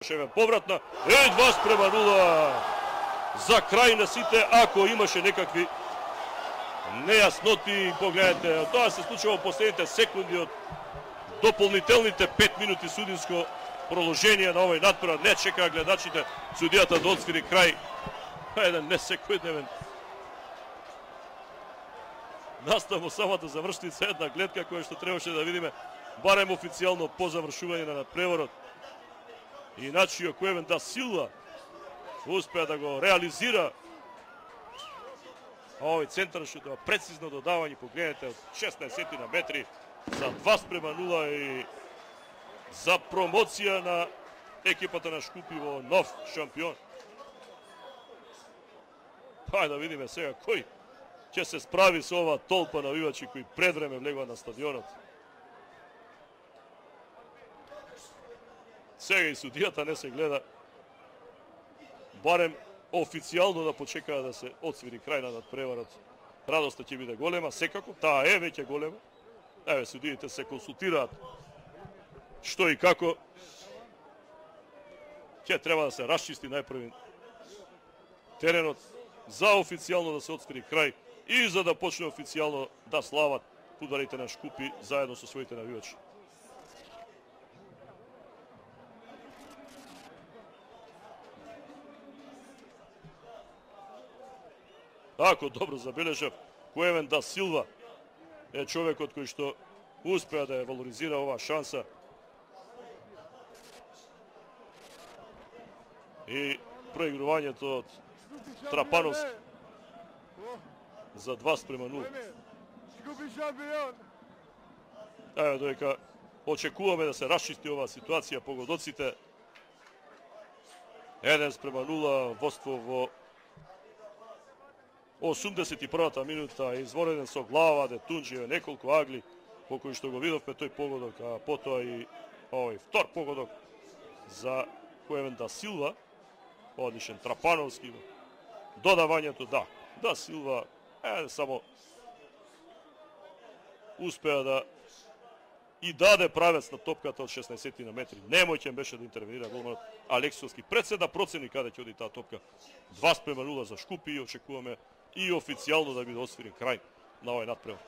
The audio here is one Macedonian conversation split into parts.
Шевен повратна, 2:0 за крај на сите, ако имаше некакви нејасноти, погледнете, тоа се случува во последните секунди од дополнителните 5 минути судинско продолжение на овој надпревар. Не чекаа гледачите судијата да отсвири крај. Еден несекојдневен настав во самата завршница, една гледка која што требаше да видиме барем официјално по завршување на надпреварот. И начинот Куевен да Силва успеа да го реализира овој центаршут, прецизно додавање, погледнете, од 16 на метри за 2:0 и за промоција на екипата на Шкупи во нов шампион. Хајде да видиме сега кој ќе се справи со ова толпа навивачи кои пред време влегува на стадионот. Сега и судијата не се гледа, барем официјално да почекаа да се отсвири крај на надпреварот. Радоста ќе биде голема, секако, таа е веќе голема. Еве, судиите се консултираат што и како. Ќе треба да се расчисти најпрви теренот за официјално да се отсвири крај и за да почне официјално да слават фудбалерите на Шкупи заедно со своите навивачи. Ако добро забележав, Куевен да Силва е човекот кој што успеа да ја валоризира оваа шанса. И проигрувањето од Трапановски за 2:0. Еве, додека очекуваме да се расчисти оваа ситуација, погодоците 1:0 водство во 81-та минута, извореден со глава, Детунџиеве, неколку агли, по кои што го видовме тој погодок, а потоа и овој втор погодок за Куевен да Силва, одличен Трапановски, додавањето, да Силва, само успеа да и даде правец на топката од 16 на метри. Немојќен беше да интервенира голманот Алексовски. Пред се да процени каде ќе оди таа топка. 2:0 за Шкупи и очекуваме и официјално да биде освирен крај на овој надпревар.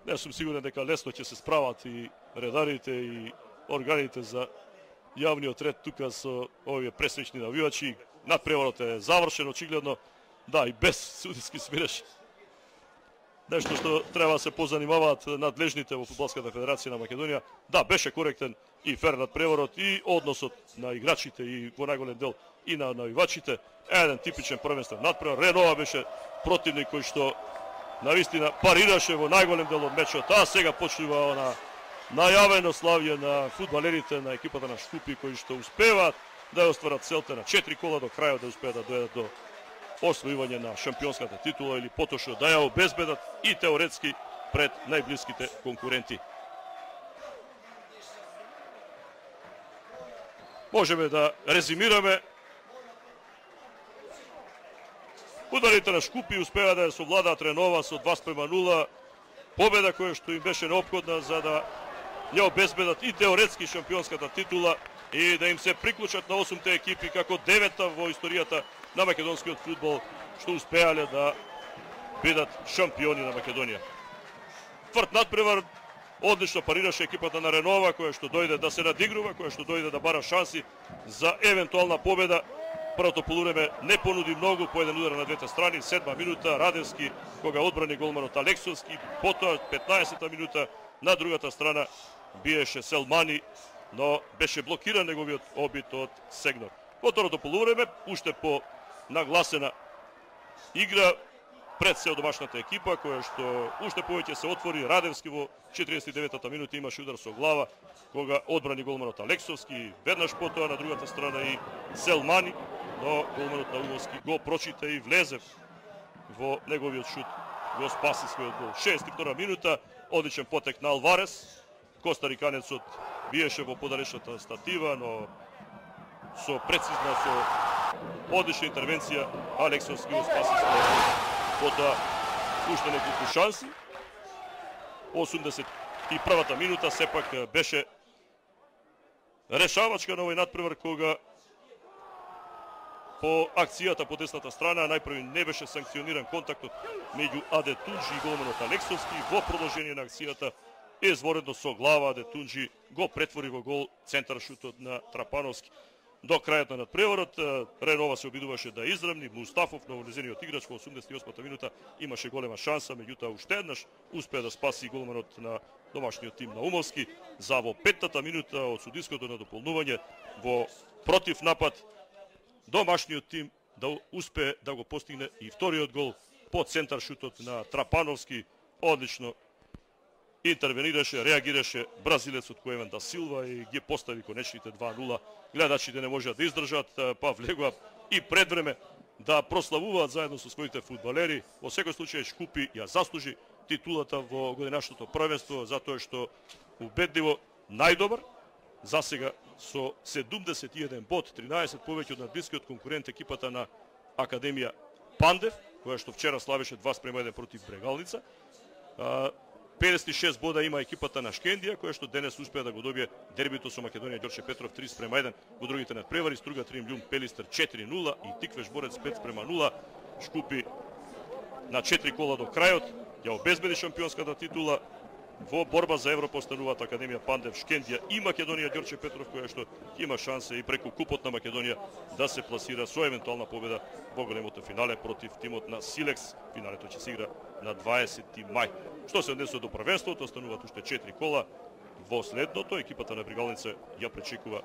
Не сум сигурен дека лесно ќе се справат и редарите и органите за јавниот ред тука со овие пресечни навивачи. Надпреварот е завршен очигледно, и без судиски смиреш. Нешто што треба да се позанимаваат надлежните во Фудбалската федерација на Македонија. Беше коректен и фер надпреварот и односот на играчите и во најголем дел и на навивачите. Еден типичен првенствен надпревар. Ренова беше противник кој што навистина парираше во најголем дел од мечот, а сега почнува она најавено славје на фудбалерите на екипата на Шкупи кои што успеваат да ја остварат целта на 4 кола до крајот, да успеат да дојдат до освојување на шампионската титула или потошно да ја обезбедат и теоретски пред најблиските конкуренти. Можеме да резимираме. Фудбалерите на Шкупи успеа да ја совладаат Ренова со 2:0, победа која што им беше неопходна за да ја обезбедат и теоретски шампионската титула и да им се приклучат на 8-те екипи како 9-та во историјата на македонскиот фудбал што успеале да бидат шампиони на Македонија. Тврд надпревар, одлично парираше екипата на Ренова која што дојде да се надигрува, која што дојде да бара шанси за евентуална победа. Првото полувреме не понуди многу, по еден удар на двете страни, 7 минута Радевски кога одбрани голманот Алексовски, потоа 15-та минута на другата страна биеше Селмани, но беше блокиран неговиот обид од Сегнор. Во второто полувреме, уште по нагласена игра пред се од домашната екипа, која што уште повеќе се отвори. Радевски во 49-та минута имаше удар со глава, кога одбрани голманот Алексовски, веднаш потоа на другата страна и Селмани, но голманот на Уговски го прочита и влезе во неговиот шут, го спаси својот гол. 62-та минута, одличен потек на Алварес, костариканецот биеше во подалечната статива, но со прецизна, со одлична интервенција, Алексовски го спаси својот. Потоа, уште неколку шанси. 81-та минута сепак беше решавачка на овој надпревар, кога по акцијата по десната страна најпрви не беше санкциониран контактот меѓу Аде Тунџи и голманот Алексовски. Во продолжение на акцијата изворедно со глава Аде Тунџи го претвори во гол центар шутот на Трапановски. До крајот на надпреварот Ренова се обидуваше да изравни. Мустафов, новонезениот играч, во 88-та минута имаше голема шанса, меѓутоа уште еднаш успеа да спаси голманот на домашниот тим на Умовски. За во 5-та минута од судиското надополнување во против напад домашниот тим да успее да го постигне и вториот гол по центар шутот на Трапановски. Одлично интервенираше, реагираше бразилецот Коевен да Силва и ги постави конечните 2-0. Гледачите не можеа да издржат, па влегува и пред време да прославуваат заедно со своите фудбалери. Во секој случај Шкупи ја заслужи титулата во годинашното првенство, затоа што убедливо најдобар, засега со 71 бод, 13 повеќе од надблискиот конкурент екипата на Академија Пандев, која што вчера славеше 2:1 против Брегалница. 56 бода има екипата на Шкендија, која што денес успеа да го добие дербито со Македонија Ѓорче Петров 3:1, во другите надпревари Струга Тримљум Пелистер 4:0 и Тиквеш Борец 5:0. Шкупи на 4 кола до крајот ја обезбеди шампионската титула. Во борба за Европа остануваат Академија Пандев, Шкендија и Македонија Ѓорче Петров, која што има шанса и преку купот на Македонија да се пласира со евентуална победа во големото финале против тимот на Силекс. Финалето ќе се игра на 20 мај. Што се однесува до првенството, остануваат уште 4 кола. Во следното екипата на Брегалница ја пречекува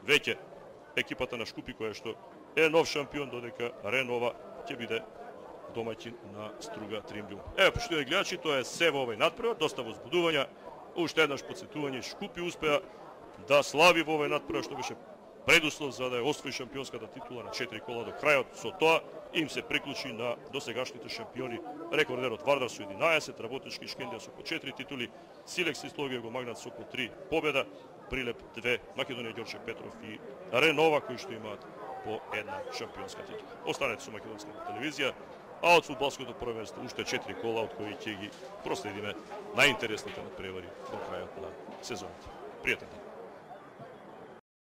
веќе екипата на Шкупи, која што е нов шампион, додека Ренова ќе биде домаќин на Струга Тримљум. Еве, поштовани гледачи, тоа е се во овој надпревар, доста возбудувања. Уште еднаш потсетување, Шкупи успеа да слави во овој надпревар, што беше предуслов за да ја освои шампионската титула на 4 кола до крајот. Со тоа им се приклучи на досегашните шампиони рекордерот Вардар со 11, Работнички Шкендија со по 4 титули, Силекс и Слогија го магнат со по 3 победа, Прилеп 2, Македонија Ѓорче Петров и Ренова, кои што имаат по една шампионска титула. Останете со македонската телевизија, а од фудбалското првенство уште 4 кола, од кои ќе ги проследиме најинтересните надпревари до крајот на сезоната. Пријатен ден.